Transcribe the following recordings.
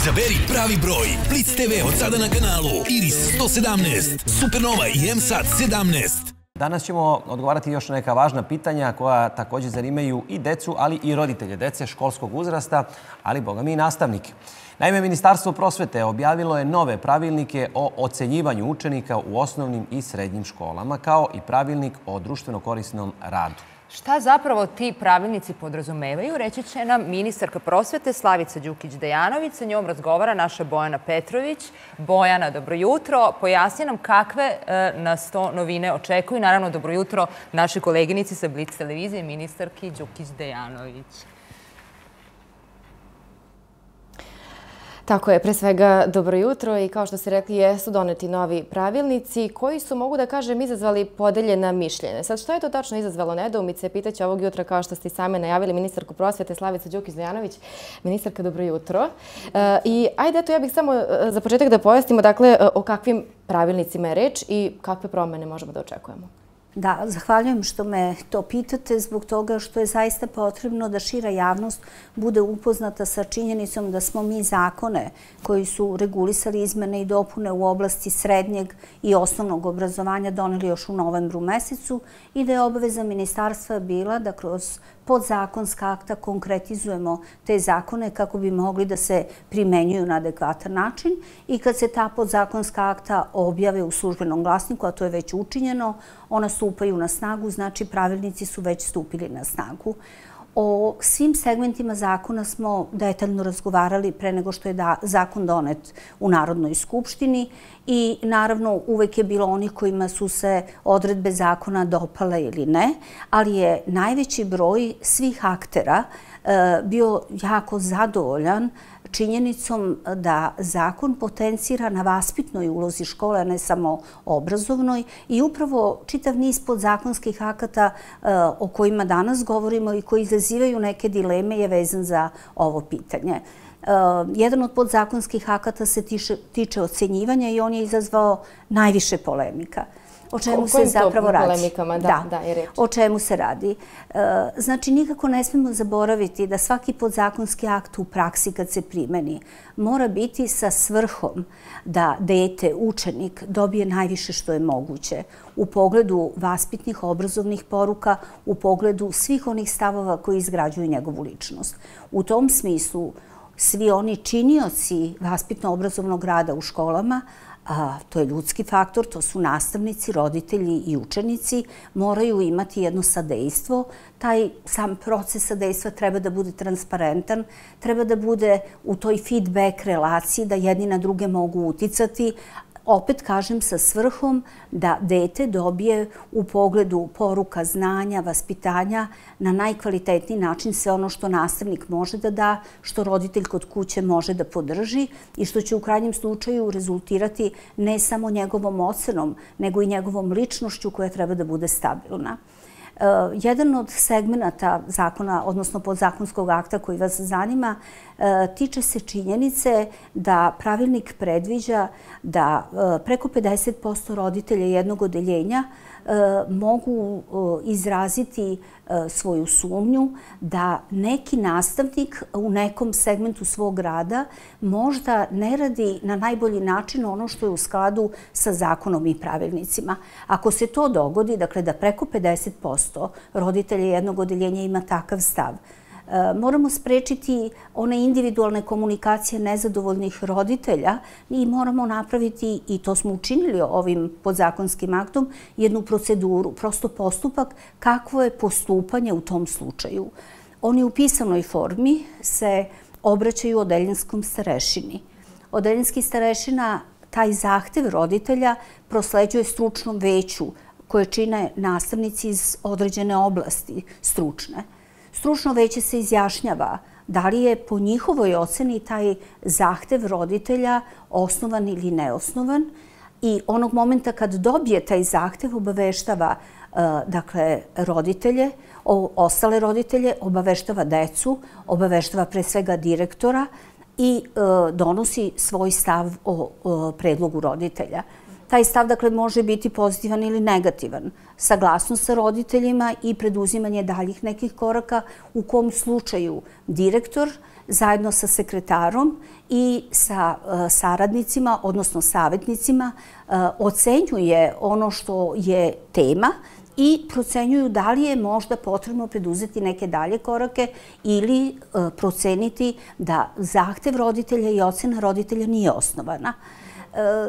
Izaberi pravi broj. Blitz TV od sada na kanalu Iris 117, Supernova i M-Sat 17. Danas ćemo odgovarati još na neka važna pitanja koja također zanimaju i decu, ali i roditelje dece školskog uzrasta, ali boga mi i nastavnike. Naime, Ministarstvo prosvete objavilo je nove pravilnike o ocenjivanju učenika u osnovnim i srednjim školama, kao i pravilnik o društveno korisnom radu. Šta zapravo ti pravilnici podrazumevaju, reći će nam ministarka prosvete Slavica Đukić-Dejanović. Sa njom razgovara naša Bojana Petrović. Bojana, dobro jutro. Pojasni nam kakve nas to novine očekuju. Naravno, dobro jutro našoj koleginici sa Blitz televizije, ministarki Đukić-Dejanović. Tako je, pre svega dobro jutro i kao što ste rekli jesu doneti novi pravilnici koji su, mogu da kažem, izazvali podeljena mišljenja. Sad što je to tačno izazvalo nedoumice? Pitaće ovog jutra, kao što ste i same najavili, ministarku prosvete Slavica Đukić-Dejanović. Ministarka, dobro jutro. I ajde, eto, ja bih samo za početak da pojasnimo, dakle, o kakvim pravilnicima je reč i kakve promene možemo da očekujemo. Da, zahvaljujem što me to pitate zbog toga što je zaista potrebno da šira javnost bude upoznata sa činjenicom da smo mi zakone koji su regulisali izmene i dopune u oblasti srednjeg i osnovnog obrazovanja doneli još u novembru mesecu i da je obaveza ministarstva bila da kroz podzakonska akta konkretizujemo te zakone kako bi mogli da se primenjuju na adekvatan način i kad se ta podzakonska akta objave u službenom glasniku, a to je već učinjeno, ona stupaju na snagu, znači pravilnici su već stupili na snagu. O svim segmentima zakona smo detaljno razgovarali pre nego što je zakon donet u Narodnoj skupštini i naravno uvek je bilo onih kojima su se odredbe zakona dopale ili ne, ali je najveći broj svih aktera bio jako zadovoljan činjenicom da zakon potencira na vaspitnoj ulozi škole, a ne samo obrazovnoj i upravo čitav niz podzakonskih akata o kojima danas govorimo i koji izazivaju neke dileme je vezan za ovo pitanje. Jedan od podzakonskih akata se tiče ocenjivanja i on je izazvao najviše polemika. O čemu se zapravo radi? O čemu se radi? Znači, nikako ne smemo zaboraviti da svaki podzakonski akt u praksi kad se primeni mora biti sa svrhom da dete, učenik, dobije najviše što je moguće u pogledu vaspitnih, obrazovnih poruka, u pogledu svih onih stavova koji izgrađuju njegovu ličnost. U tom smislu, svi oni činioci vaspitno-obrazovnog rada u školama, to je ljudski faktor, to su nastavnici, roditelji i učenici, moraju imati jedno sadejstvo. Taj sam proces sadejstva treba da bude transparentan, treba da bude u toj feedback relaciji, da jedni na druge mogu uticati, opet kažem sa svrhom da dete dobije u pogledu poruka, znanja, vaspitanja na najkvalitetniji način sve ono što nastavnik može da da, što roditelj kod kuće može da podrži i što će u krajnjem slučaju rezultirati ne samo njegovom ocenom, nego i njegovom ličnošću koja treba da bude stabilna. Jedan od segmenata zakona, odnosno podzakonskog akta koji vas zanima, tiče se činjenice da pravilnik predviđa da preko 50% roditelja jednog odeljenja mogu izraziti svoju sumnju da neki nastavnik u nekom segmentu svog rada možda ne radi na najbolji način ono što je u skladu sa zakonom i pravilnicima. Ako se to dogodi, dakle da preko 50% roditelja jednog odeljenja ima takav stav, moramo sprečiti one individualne komunikacije nezadovoljnih roditelja i moramo napraviti, i to smo učinili ovim podzakonskim aktom, jednu proceduru, prosto postupak kakvo je postupanje u tom slučaju. Oni u pisanoj formi se obraćaju odeljinskom starešini. Odeljinski starešina taj zahtev roditelja prosleđuje stručnom veću koje čine nastavnici iz određene oblasti stručne. Stručno veće se izjašnjava da li je po njihovoj oceni taj zahtev roditelja osnovan ili neosnovan i onog momenta kad dobije taj zahtev obaveštava roditelje, ostale roditelje, obaveštava decu, obaveštava pre svega direktora i donosi svoj stav o predlogu roditelja. Taj stav, dakle, može biti pozitivan ili negativan. Saglasnost sa roditeljima i preduzimanje daljih nekih koraka u kom slučaju direktor zajedno sa sekretarom i sa saradnicima, odnosno savjetnicima, ocenjuje ono što je tema i procenjuju da li je možda potrebno preduzeti neke dalje korake ili proceniti da zahtev roditelja i ocena roditelja nije osnovana.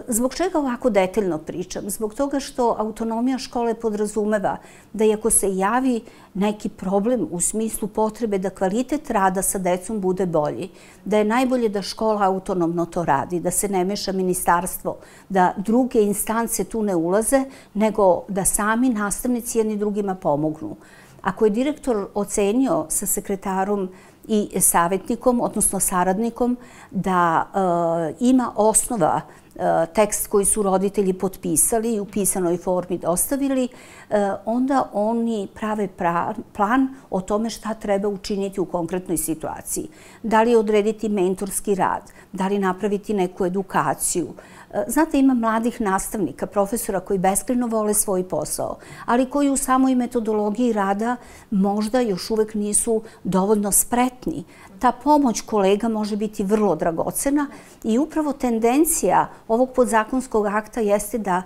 Zbog čega ovako detaljno pričam? Zbog toga što autonomija škole podrazumeva da i ako se javi neki problem u smislu potrebe da kvalitet rada sa decom bude bolji, da je najbolje da škola autonomno to radi, da se ne meša ministarstvo, da druge instance tu ne ulaze, nego da sami nastavnici jedni drugima pomognu. Ako je direktor ocenio sa sekretarom i savjetnikom, odnosno saradnikom, da ima osnova tekst koji su roditelji potpisali i u pisanoj formi dostavili, onda oni prave plan o tome šta treba učiniti u konkretnoj situaciji. Da li odrediti mentorski rad, da li napraviti neku edukaciju. Znate, ima mladih nastavnika, profesora koji beskrajno vole svoj posao, ali koji u samoj metodologiji rada možda još uvek nisu dovoljno spretni. Ta pomoć kolega može biti vrlo dragocena i upravo tendencija ovog podzakonskog akta jeste da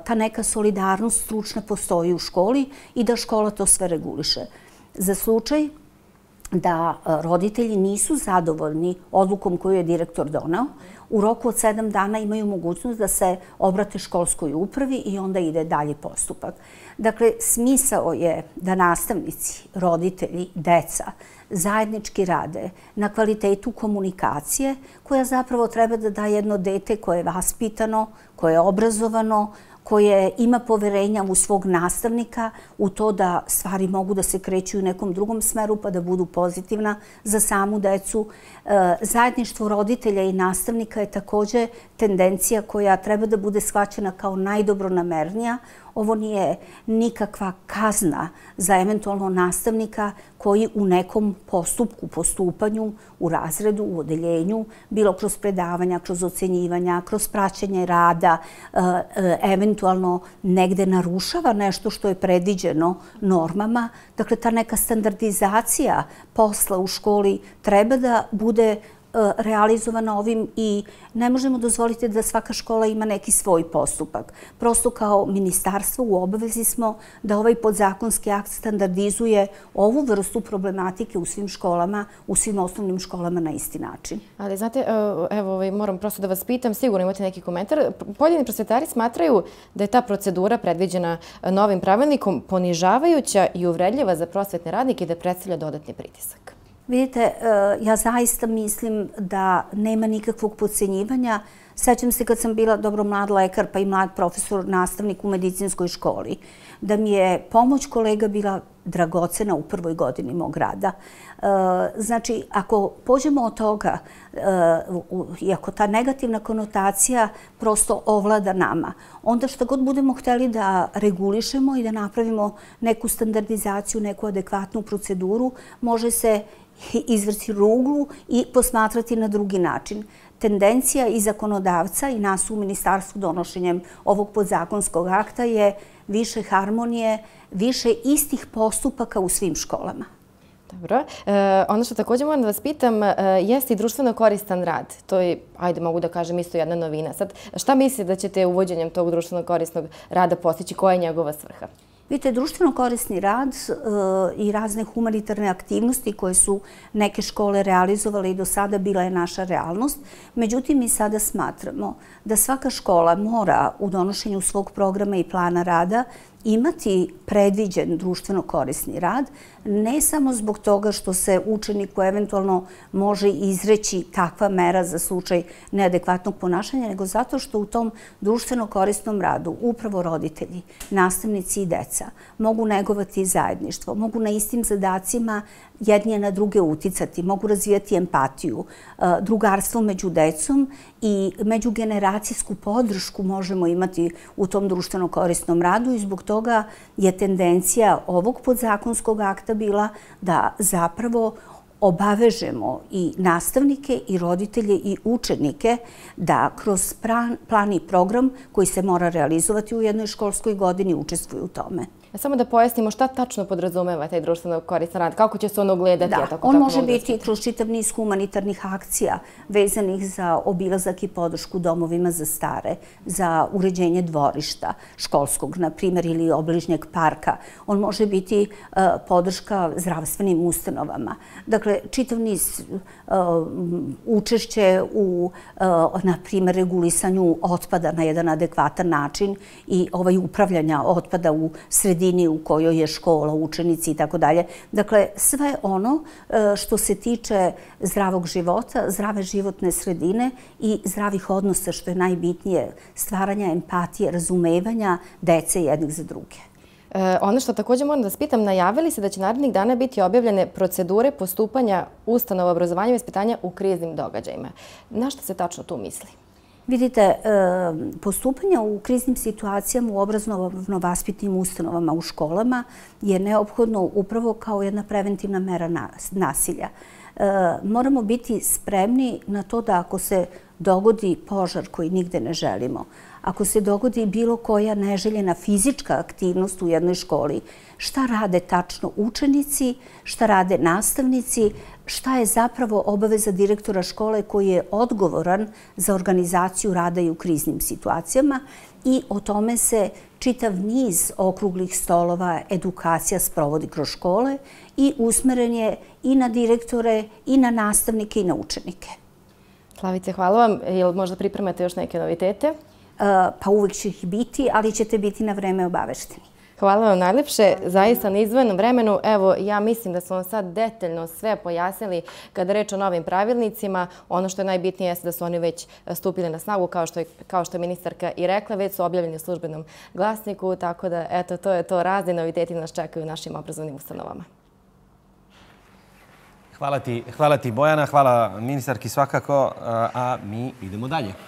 ta neka solidarnost stručna postoji u školi i da škola to sve reguliše. Za slučaj da roditelji nisu zadovoljni odlukom koju je direktor doneo, u roku od 7 dana imaju mogućnost da se obrate školskoj upravi i onda ide dalje postupak. Dakle, smisao je da nastavnici, roditelji, deca zajednički rade na kvalitetu komunikacije koja zapravo treba da da jedno dete koje je vaspitano, koje je obrazovano, koje ima poverenja u svog nastavnika, u to da stvari mogu da se kreću u nekom drugom smeru pa da budu pozitivna za samu decu. Zajedništvo roditelja i nastavnika je također tendencija koja treba da bude shvaćena kao najdobronamernija. Ovo nije nikakva kazna za eventualno nastavnika koji u nekom postupku, postupanju, u razredu, u odeljenju, bilo kroz predavanja, kroz ocenjivanja, kroz praćenje rada, eventualno negde narušava nešto što je predviđeno normama. Dakle, ta neka standardizacija posla u školi treba da bude realizovana ovim i ne možemo dozvoliti da svaka škola ima neki svoj postupak. Prosto kao ministarstvo u obavezi smo da ovaj podzakonski akt standardizuje ovu vrstu problematike u svim školama, u svim osnovnim školama na isti način. Ali znate, evo, moram prosto da vas pitam, sigurno imate neki komentar. Pojedini prosvetari smatraju da je ta procedura predviđena novim pravilnikom ponižavajuća i uvredljiva za prosvetne radnike i da predstavlja dodatni pritisak. Vidite, ja zaista mislim da nema nikakvog podcenjivanja. Sećam se kad sam bila dobro mlad lekar pa i mlad profesor, nastavnik u medicinskoj školi, da mi je pomoć kolega bila dragocena u prvoj godini mog rada. Znači, ako pođemo od toga i ako ta negativna konotacija prosto ovlada nama, onda što god budemo hteli da regulišemo i da napravimo neku standardizaciju, neku adekvatnu proceduru, može se izvrći ruglu i posmatrati na drugi način. Tendencija i zakonodavca i nas u ministarstvu donošenjem ovog podzakonskog akta je više harmonije, više istih postupaka u svim školama. Dobro. Ono što također moram da vas pitam jeste i društveno koristan rad. To je, ajde mogu da kažem, isto jedna novina. Sad, šta mislite da ćete uvođenjem tog društveno korisnog rada postići? Koja je njegova svrha? Vidite, društveno korisni rad i razne humanitarne aktivnosti koje su neke škole realizovale i do sada bila je naša realnost. Međutim, mi sada smatramo da svaka škola mora u donošenju svog programa i plana rada imati predviđen društveno korisni rad, ne samo zbog toga što se učeniku eventualno može izreći takva mera za slučaj neadekvatnog ponašanja, nego zato što u tom društveno korisnom radu upravo roditelji, nastavnici i deca mogu negovati zajedništvo, mogu na istim zadacima jedni na druge uticati, mogu razvijati empatiju, drugarstvo među decom i međugeneracijsku podršku možemo imati u tom društveno korisnom radu i zbog toga je tendencija ovog podzakonskog akta bila da zapravo obavežemo i nastavnike i roditelje i učenike da kroz plan i program koji se mora realizovati u jednoj školskoj godini učestvuju u tome. Samo da pojasnimo šta tačno podrazumeva taj društveno koristan rad, kako će se ono gledati? On može biti kroz čitav niz humanitarnih akcija vezanih za obilazak i podršku domovima za stare, za uređenje dvorišta školskog, na primjer, ili obližnjeg parka. On može biti podrška zdravstvenim ustanovama. Dakle, čitav niz učešće u, na primjer, regulisanju otpada na jedan adekvatan način i upravljanja otpada u sredini u kojoj je škola, učenici i tako dalje. Dakle, sve ono što se tiče zdravog života, zdrave životne sredine i zdravih odnosa, što je najbitnije, stvaranja empatije, razumevanja dece jednih za druge. Ono što također moram da vas pitam, najavili se da će narednih dana biti objavljene procedure postupanja ustanova obrazovanja i vaspitanja u kriznim događajima. Na što se tačno tu misli? Vidite, postupanje u kriznim situacijama u obrazovno-vaspitnim ustanovama u školama je neophodno upravo kao jedna preventivna mera nasilja. Moramo biti spremni na to da ako se dogodi požar koji nigde ne želimo, ako se dogodi bilo koja neželjena fizička aktivnost u jednoj školi, šta rade tačno učenici, šta rade nastavnici, šta je zapravo obaveza direktora škole koji je odgovoran za organizaciju rada i u kriznim situacijama i o tome se čitav niz okruglih stolova, edukacija sprovodi kroz škole i usmeren je i na direktore, i na nastavnike, i na učenike. Slavice, hvala vam. Jel možda pripremate još neke novitete? Pa uvijek će ih biti, ali ćete biti na vreme obavešteni. Hvala vam najljepše. Zaista na izdvojenom vremenu. Evo, ja mislim da smo vam sad detaljno sve pojasnili kada reč o novim pravilnicima. Ono što je najbitnije je da su oni već stupili na snagu, kao što je ministarka i rekla, već su objavljeni u službenom glasniku. Tako da, eto, to je to. Razni noviteti nas čekaju u našim obrazovnim ustanovama. Hvala ti, Bojana. Hvala ministarki svakako. A mi idemo dalje.